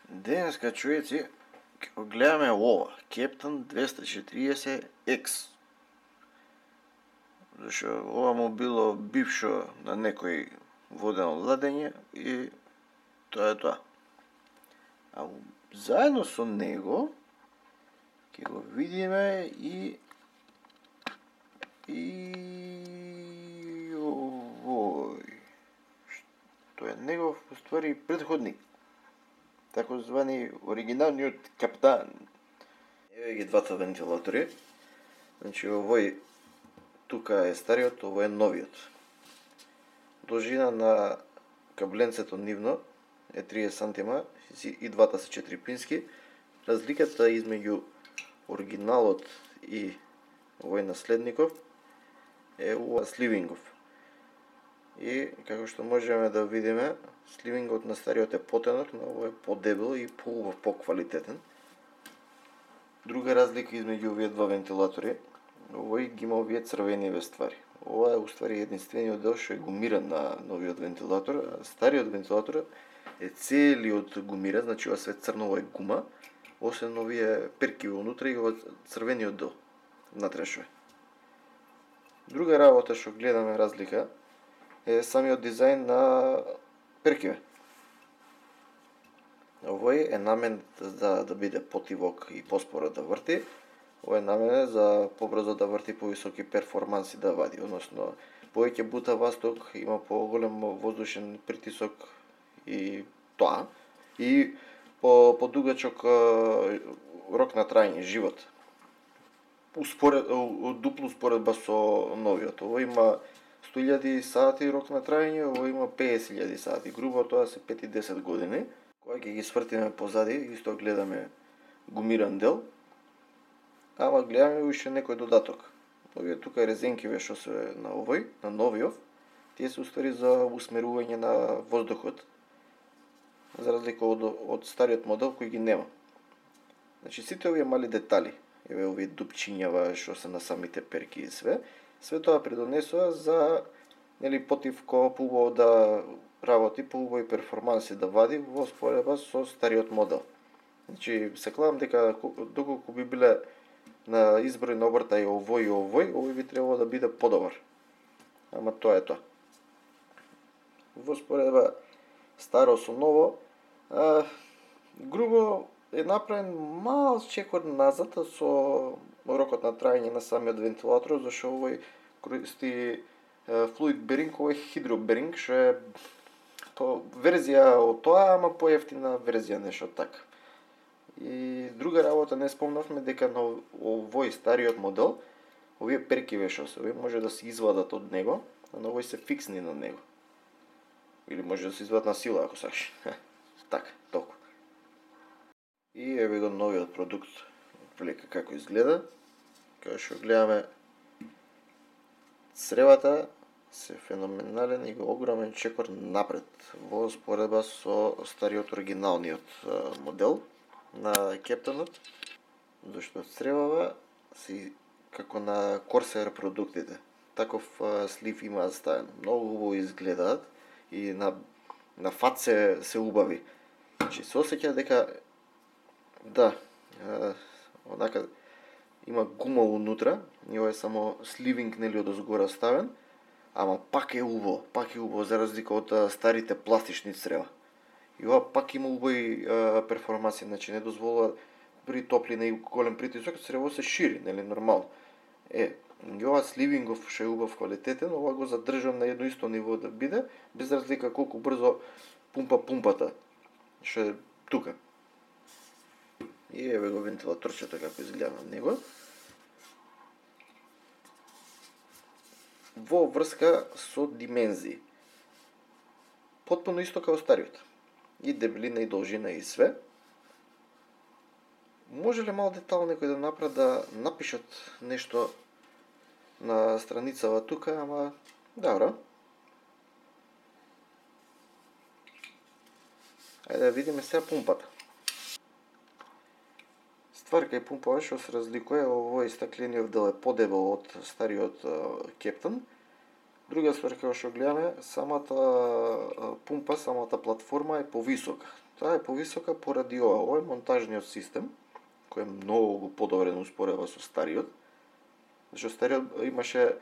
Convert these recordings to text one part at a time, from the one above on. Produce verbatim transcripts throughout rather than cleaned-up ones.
Денеска, човеци, ќе го гледаме ова, Кептан двеста и четириесет екс. Зашо ова му било бившо на некој водено ладење и тоа е тоа. А заедно со него ќе го видиме и и овој што е негов уствари претходник, тако звани оригиналниот Каптан. Еве ги двата вентилатори. Значи овој тука е стариот, овој е новиот. Должина на кабленцето нивно е триесет сантима и двата се четирипински. Разликата измеѓу оригиналот и овој наследников е ова сливингов. И како што можеме да видиме, сливингот на стариот е потенок, на овој е подебел и поубав, поквалитетен. Друга разлика измеѓу овие два вентилатори, овој ги има овие црвениве ствари. Ова е уствари единствениот дел што е гумиран на новиот вентилатор, а стариот вентилатор е целиот гумиран, значи ова све црно, ова е гума, освен овие перки внутре и ова црвениот дел внатрешно. Друга работа што гледаме разлика е самиот дизајн на перкиве. Овој е намен за да биде потивок и поспоро да врти. Овој е наменет за побрзо да врти, повисоки перформанси да вади, односно повеќе бута васток, има поголем воздушен притисок и тоа, и по подугачок рок на траење, живот. Успоред, дупло успоредба со новиот. Овој има сто илјади сати рок на траење, овој има педесет илјади сати. Грубо тоа се пет и десет години. Кога ќе ги свртиме позади, исто гледаме гумиран дел, ама гледаме уште некој додаток. Овие тука резенкиве што се на овој, на новиот, тие се уствари за усмерување на воздухот, за разлика од, од стариот модел кој ги нема. Значи сите овие мали детали, еве овие дупчињава што се на самите перки и све, све тоа придонесува за, нели, потивко, поубаво да работи, поубави перформанси да вади во споредба со стариот модел. Значи, се клавам дека доколку би биле на изброј на обртај овој и овој, овој би требало да биде подобар. Ама тоа е тоа. Во споредба старо со ново, а, грубо е направен мал чекор назад со рокот на траење на самиот вентилатор, зашто овој користи флуид беринг, овој хидроберинг, што е то верзија од тоа, ама поевтина верзија, нешто така. И друга работа не спомнавме дека на овој стариот модел, овие перкиве што се, овие може да се извадат од него, а на овој се фиксни на него. Или може да се извадат на сила ако сакаш. Така, толку. И еве го новиот продукт, прилика како изгледа. Као што гледаме, цревата се феноменален и огромен чекор напред во споредба со стариот оригиналниот модел на Кептанот, зашто цревава си како на Корсер продуктите. Таков слив има ставен. Многу убаво изгледаат и на на фат се, се убави. Значи се осеќа дека да, е, онака има гума унутра, и ова е само сливинг, нели, од озгора ставен, ама пак е убаво, пак е убаво за разлика од старите пластични црева. И ова пак има убави перформанси, значи не дозволува при топлина и голем притисок црево се шири, нели, нормално. Е, и ова сливингов што е убав квалитетен, ова го задржам на едно исто ниво да биде, без разлика колку брзо пумпа пумпата, што е тука. И еве го вентилаторчето како изгледа на него. Во врска со димензии. Потпуно исто како стариот. И дебелина и должина и све. Може ли мал детал некој да направи да напишат нешто на страницава тука, ама добро. Ајде да видиме сега пумпата. Ствар кај пумпава што се разликува, овој стаклениот дел е подебел од стариот Кептан. Друга ствар како што гледаме, самата пумпа, самата платформа е повисока. Таа е повисока поради ова. Ова е монтажниот систем, кој е многу подобрен успореба со стариот. Зашто стариот имаше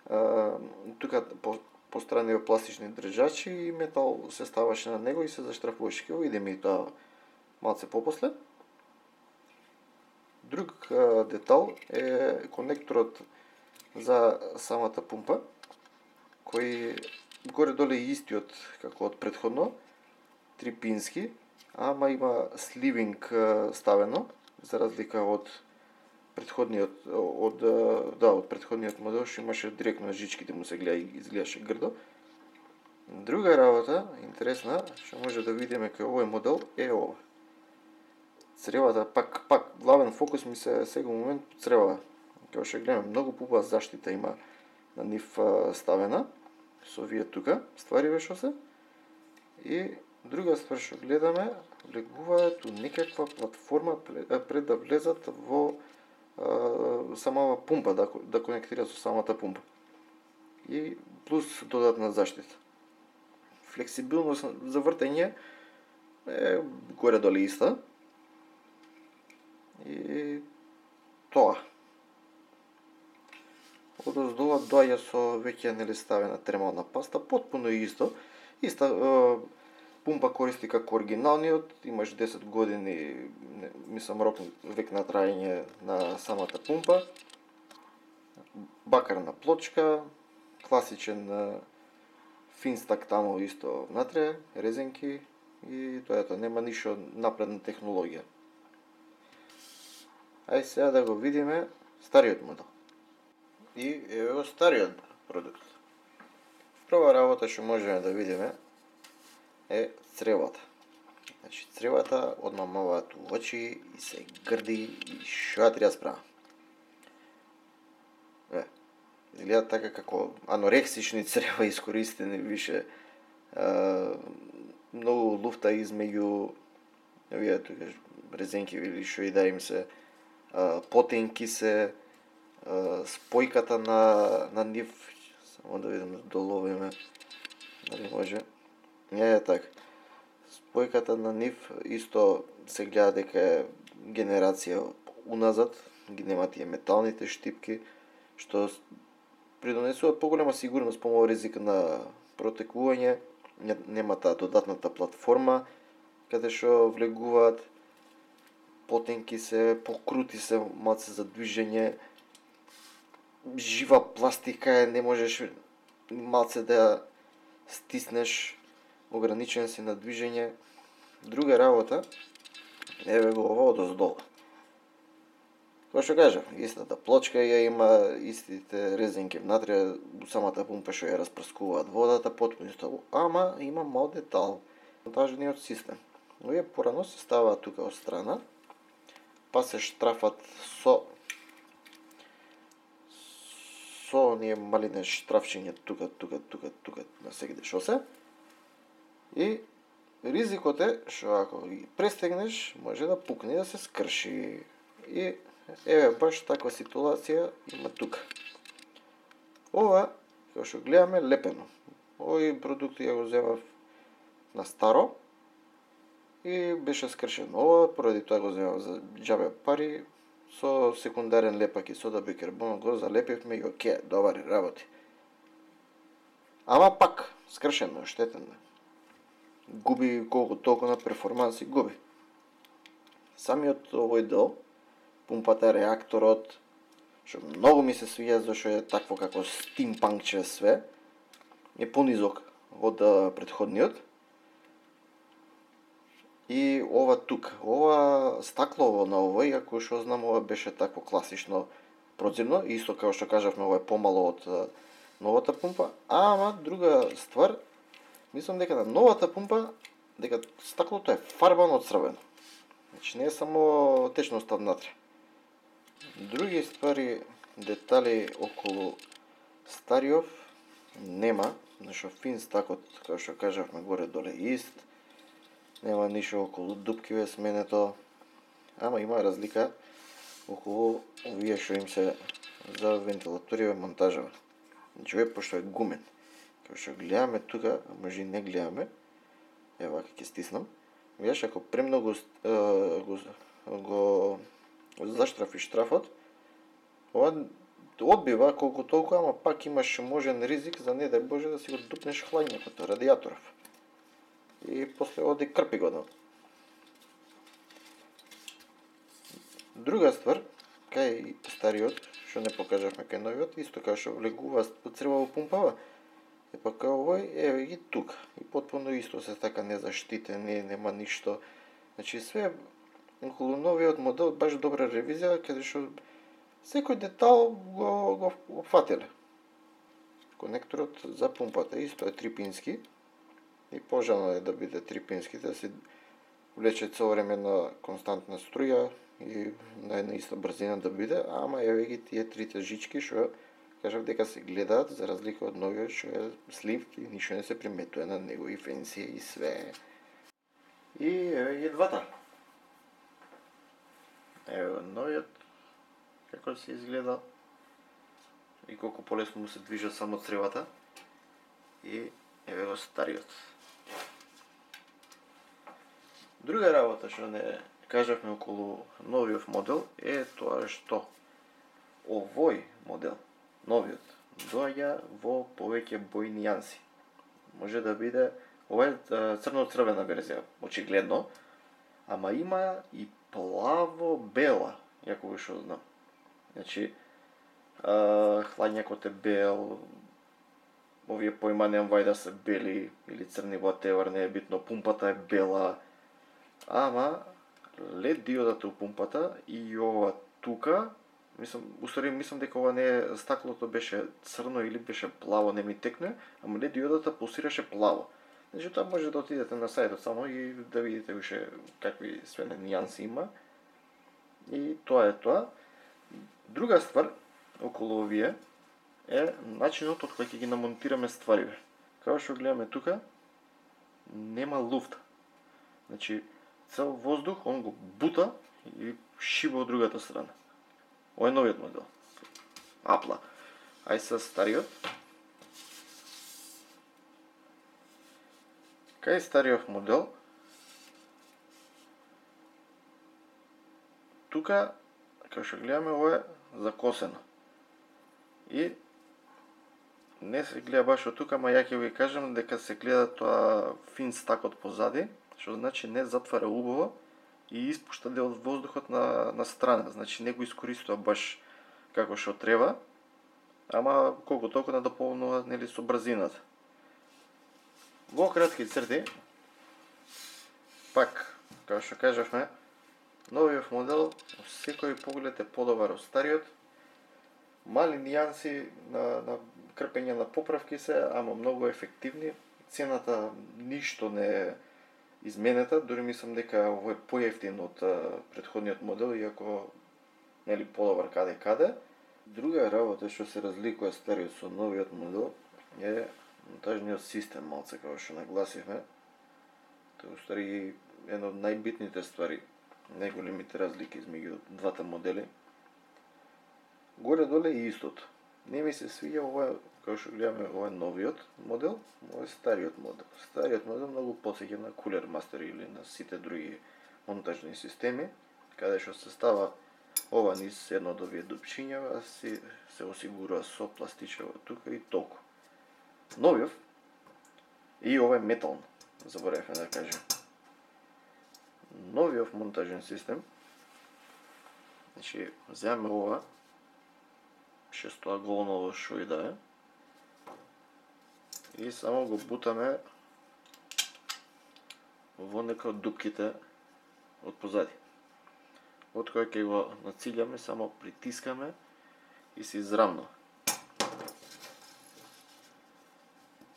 а, тука по, пострани пластични држачи и метал се ставаше на него и се заштрафуваше. Ќе видиме и тоа малце попосле. Друг а, детал е конекторот за самата пумпа, кој горе-доле е истиот како од претходно, трипински, ама има сливинг ставено, за разлика од претходниот од да, од претходниот модел што имаше директно жичките му се гледа и изгледаше грдо. Друга работа интересна што може да видиме кај овој модел е ова. Цревата пак пак главен фокус ми се сега момент црева. Како што гледаме, многу пуба заштита има на нив ставена со овие тука ствари што се. И друга ствар што гледаме, влегуваат у некаква платформа пред да влезат во а, самава пумпа, да, да конектира со самата пумпа. И плюс додатна заштита. Флексибилност за вртење е горе-доле иста. И тоа. Одоздола доаѓа со веќе нели ставена термална паста, потпуно исто. Иста е, пумпа користи како оригиналниот, имаш десет години, мислам рок век на траење на самата пумпа. Бакарна плочка, класичен финстак таму исто внатре, резенки и тоа ето, нема ништо напредна технологија. Ај сега да го видиме стариот модел. И ево стариот продукт. Прва работа што можеме да видиме е цревата. Значи цревата одмамуваат у очи и се грди и што ја треба справа. Е, изгледа така како анорексични црева искористени више. Е, многу луфта измеѓу овие тука резенки или што и да им се, е, потенки се, спојката на, на нив, само да видим да доловиме, дали може, не е така. Спојката на нив исто се гледа дека е генерација уназад, ги нема тие металните штипки, што придонесува поголема сигурност, помал ризик на протекување, нема таа додатната платформа, каде што влегуваат, потенки се, покрути се малце за движење, жива пластика е, не можеш малце да ја стиснеш, ограничен си на движење. Друга работа, еве го ова одоздола. Кој што кажав, истата плочка ја има, истите резенки внатре, самата пумпа што ја распрскуваат водата, потпуно исто, ама има мал детал, монтажниот систем. Овие порано се ставаат тука од страна, па се штрафат со со оние малине штрафчиња тука, тука, тука, тука, на сегде шо се. И ризикот е што ако ги престегнеш, може да пукне и да се скрши. И еве баш таква ситуација има тука. Ова, како што гледаме, лепено. Овој продукт ја го земав на старо и беше скршено. Ова, поради тоа го земав за џабе пари, со секундарен лепак и сода бикарбон го залепивме и оке, добари работи. Ама пак, скршено, штетен. Губи колку толку на перформанси, губи. Самиот овој дел, пумпата, реакторот, што многу ми се свија зашто е такво како стимпанкче све, е понизок од претходниот. И ова тук, ова стаклово на овој, ако што знам, ова беше такво класично прозирно, исто како што кажавме, ова е помало од новата пумпа, ама друга ствар, мислам дека на новата пумпа, дека стаклото е фарбано од црвено. Значи не е само течноста внатре. Други ствари, детали околу стариот нема, зашто финстакот, како што кажавме, горе доле ист. Нема ништо околу дупкиве сменето, ама има разлика околу овие што им се за вентилаториве монтажава. Значи овој пошто е гумен. Како што гледаме тука, може и не гледаме, ева ќе стиснам, Виеш, ако премногу го, го заштрафиш штрафот, ова одбива колку толку, ама пак имаш можен ризик за не дај Боже да си го дупнеш хладњакот, радијаторов. И после оди крпи го, да. Друга ствар, кај стариот, што не покажавме кај новиот, исто кај што влегува црваво пумпава, е па кај овој, еве ги тука. И потпуно исто се така незаштитен, не, нема ништо. Значи све околу новиот модел баш добра ревизија, каде што секој детал го, го опфатиле. Конекторот за пумпата исто е трипински и пожелно е да биде трипински, да се влече цело време на константна струја и на една иста брзина да биде, ама еве ги тие трите жички што кажав дека се гледаат за разлика од новиот што е слив и ништо не се приметува на него и фенси и све. И еве ги двата. Еве новиот како се изгледа и колку полесно му се движат само цревата и еве го стариот. Друга работа што не кажавме околу новиот модел е тоа што овој модел, новиот, доаѓа во повеќе бои нијанси. Може да биде, ова е црно-црвена верзија, очигледно, ама има и плаво-бела, јако што знам. Значи, хладњакот е бел, овие поимања вајда се бели или црни, whatever, не е битно, пумпата е бела, ама лед диодата у пумпата и ова тука, мислам, устари мислам дека ова не е, стаклото беше црно или беше плаво, не ми текне, ама лед диодата пулсираше плаво. Значи тоа може да отидете на сајтот само и да видите уште какви све нијанси има. И тоа е тоа. Друга ствар околу овие е начинот од кој ќе ги намонтираме ствариве. Како што гледаме тука, нема луфт. Значи, цел воздух, он го бута и шиба од другата страна. Ова е новиот модел. Апла. Ај са стариот. Кај стариот модел, тука, како што гледаме, ова е закосено. И не се гледа баш од тука, ама ја ќе ви кажам дека се гледа тоа фин стакот позади, што значи не затвара убаво и испушта дел од воздухот на, на страна. Значи не го искористува баш како што треба, ама колку толку надополнува, нели, со брзината. Во кратки црти, пак, како што кажавме, новиот модел секој поглед е подобар од стариот. Мали нијанси на, на крпење на поправки се, ама многу ефективни. Цената ништо не е изменета, дури мислам дека овој е поевтин од претходниот модел, иако нели подобар каде каде. Друга работа што се разликува стариот со новиот модел е монтажниот систем, малце како што нагласивме. Тоа устари една од најбитните ствари, најголемите разлики измеѓу двата модели. Горе-доле е истото. Не ми се свиѓа ова, како што гледаме, ова е новиот модел, ова е стариот модел. Стариот модел многу потсеќа на Cooler Master или на сите други монтажни системи, каде што се става ова низ едно од овие дупчиња, а се, се осигурува со пластичево тука и толку. Новиот, и ова е метално, заборавме да кажем. Новиот монтажен систем, значи, земаме ова, шестоаголново шо и да е, и само го бутаме во нека од дупките од позади. Од кој ќе го нацилјаме, само притискаме и се израмнува.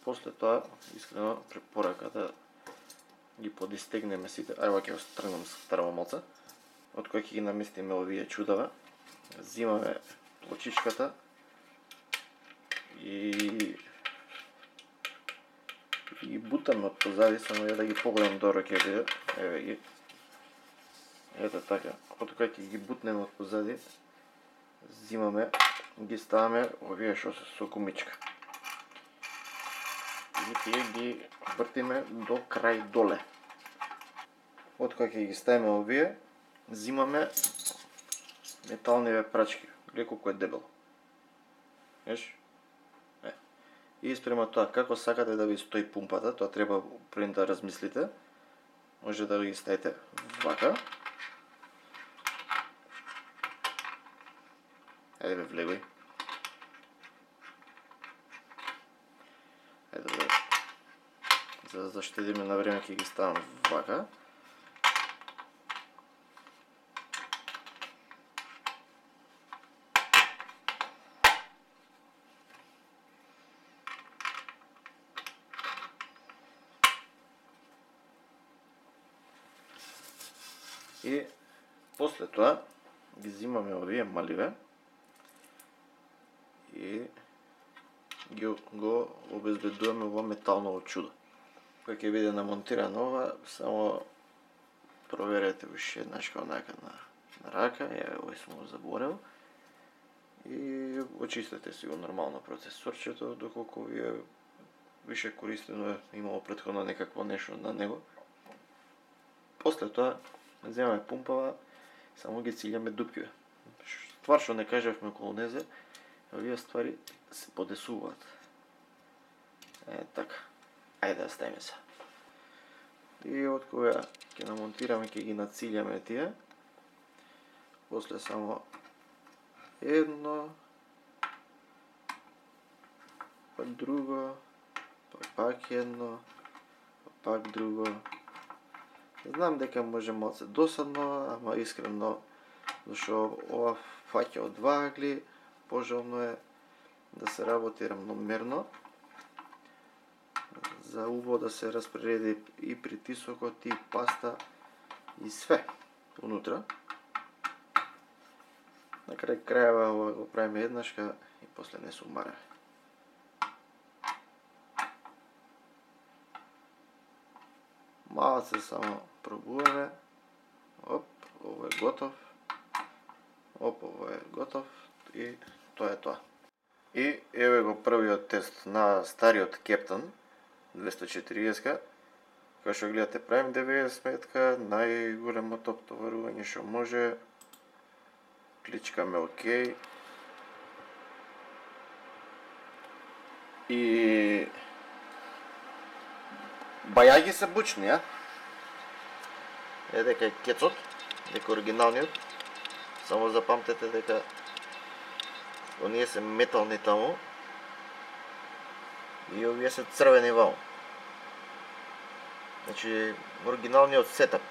После тоа, искрено препорака да ги подистегнеме сите. Ајде, ќе го тргнам старо малце. Од кој ќе ги наместиме овие чудава. Зимаме плочичката и и ги бутаме од позади, само ја да ги погледам добро ќе биде. Еве ги. Ето така. Од кој ќе ги бутнеме од позади, зимаме, ги ставаме овие што се со гумичка. И тие ги вртиме до крај доле. од кога ќе ги ставиме овие, зимаме металниве прачки. Гледа колку е дебело. Виж? Е. И спрема тоа, како сакате да ви стои пумпата, тоа треба пред да размислите. Може да ги ставите вака. Ајде бе, влегој. Ајде бе. За да заштедиме на време ќе ги ставам вака. И после тоа ги зимаме овие маливе и ги го обезбедуваме во металново чудо. Кога ќе биде намонтирано ова, само проверете уште еднаш онака на, на рака, ја овој сум го заборел. И очистете си го нормално процесорчето, доколку ви е више користено, имало претходно некакво нешто на него. После тоа земаме пумпава, само ги цилјаме дупкиве. Ствар што не кажавме околу незе, овие ствари се подесуваат. Е, така. Ајде да ставиме се. И од кога ќе намонтираме, ќе ги нацилјаме тие. После само едно, па друго, па пак едно, па пак друго. Знам дека може малце досадно, ама искрено, зашто ова фаќа од два агли, пожелно е да се работи рамномерно, за убаво да се распреди и притисокот, и паста, и све унутра. На крај крајава ова го правиме еднашка и после не се умараме. Малце само пробуваме. Оп, ово е готов. Оп, ово е готов. И тоа е тоа. И еве го првиот тест на стариот Кептан двесто четириесет. Као што гледате, правим деветдесет метка, најголемото оптоварување што може. Кличкаме ОК. И бајаги се бучни, а? Е дека е кецот, дека оригиналниот. Само запамтете дека оние се метални таму и овие се црвени ваму. Значи, оригиналниот сетап.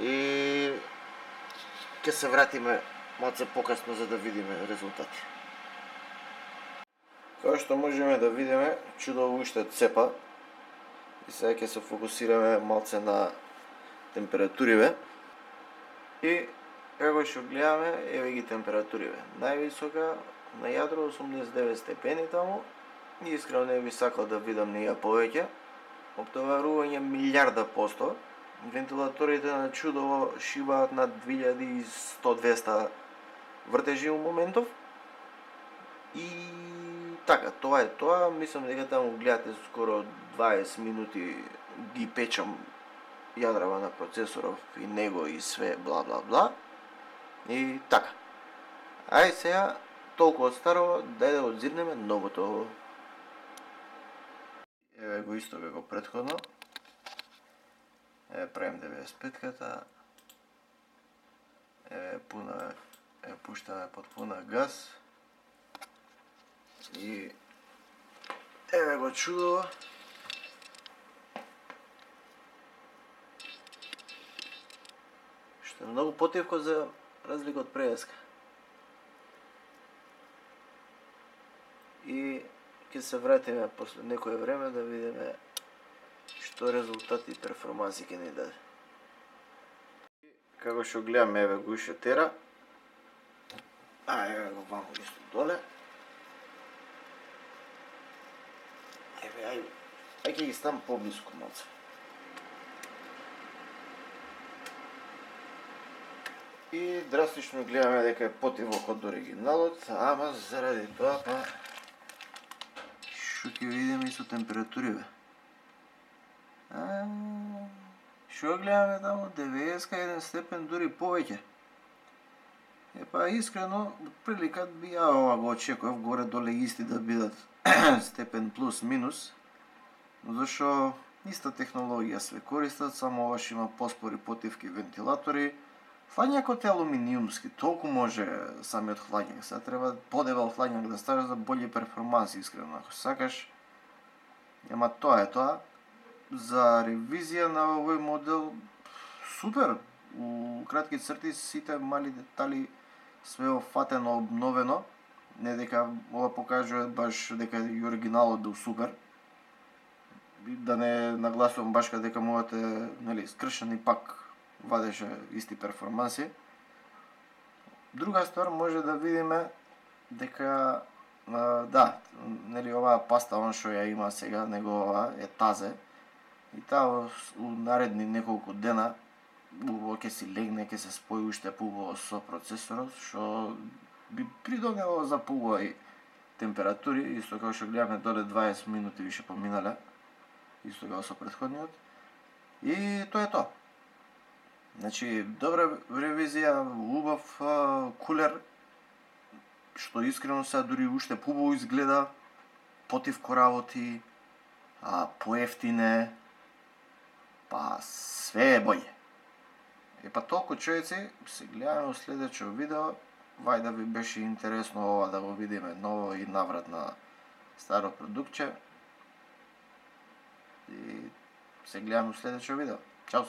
И ќе се вратиме малце покасно за да видиме резултати. Као што можеме да видиме, чудово уште цепа. И сега ќе се фокусираме малце на температуриве. И како што гледаме, еве ги температуриве. Највисока на јадро осумдесет и девет степени таму. И искрено не би сакал да видам неја повеќе. Оптоварување милиарда посто. Вентилаторите на чудово шибаат на две илјади и сто до двесте вртежи у моментов. И така, тоа е тоа. Мислам дека таму гледате скоро дваесет минути ги печам јадрава на процесоров и него и све бла бла бла. И така. Ај сега, толку од старо, дај да одзирнеме новото. Еве го исто како претходно. Еве правим деветдесет петката. Еве пуна, е пуштаме под пуна газ. И еве го чудово. Што е многу потивко за разлика од преска. И ќе се вратиме после некое време да видиме што резултати и перформанси ќе ни даде. Како што гледаме, еве го уште тера. А, еве го ваму исто доле. Еве, ај, ај ќе ги ставам поблиску малце. И драстично гледаме дека е потивок од оригиналот, ама заради тоа па што ќе видиме и со температуриве. А, Што гледаме таму, деветдесет еден степен, дури повеќе. Епа, искрено, од прилика би ја ова го очекував, горе-доле исти да бидат степен плюс-минус, зашо иста технологија све користат, само оваш има поспори потивки вентилатори. Хладњакот е алуминиумски, толку може самиот хладњак, сега треба подебел хладњак да ставиш за болји перформанси, искрено, ако сакаш. Ема тоа е тоа. За ревизија на овој модел, супер, у кратки црти сите мали детали све офатено, обновено, не дека ова покажува баш дека и оригиналот бил супер, да не нагласувам баш дека мојот е, нели, скршен и пак вадеше исти перформанси. Друга ствар, може да видиме дека, да, нели, оваа паста, он што ја има сега, негова е тазе, и таа у наредни неколку дена убаво ќе си легне, ќе се спои уште поубаво со процесорот, што би придонело за поубави температури, исто како што гледаме доле дваесет минути више поминале, исто како со претходниот. И тоа е тоа. Значи, добра ревизија, убав кулер, што искрено сега дури уште поубаво изгледа, потивко работи, а поевтине, па све е боље. Епа толку, човеци, се гледаме во следечо видео. Вај да ви беше интересно ова да го видиме ново и наврат на старо продуктче. И се гледаме во следечо видео. Чао!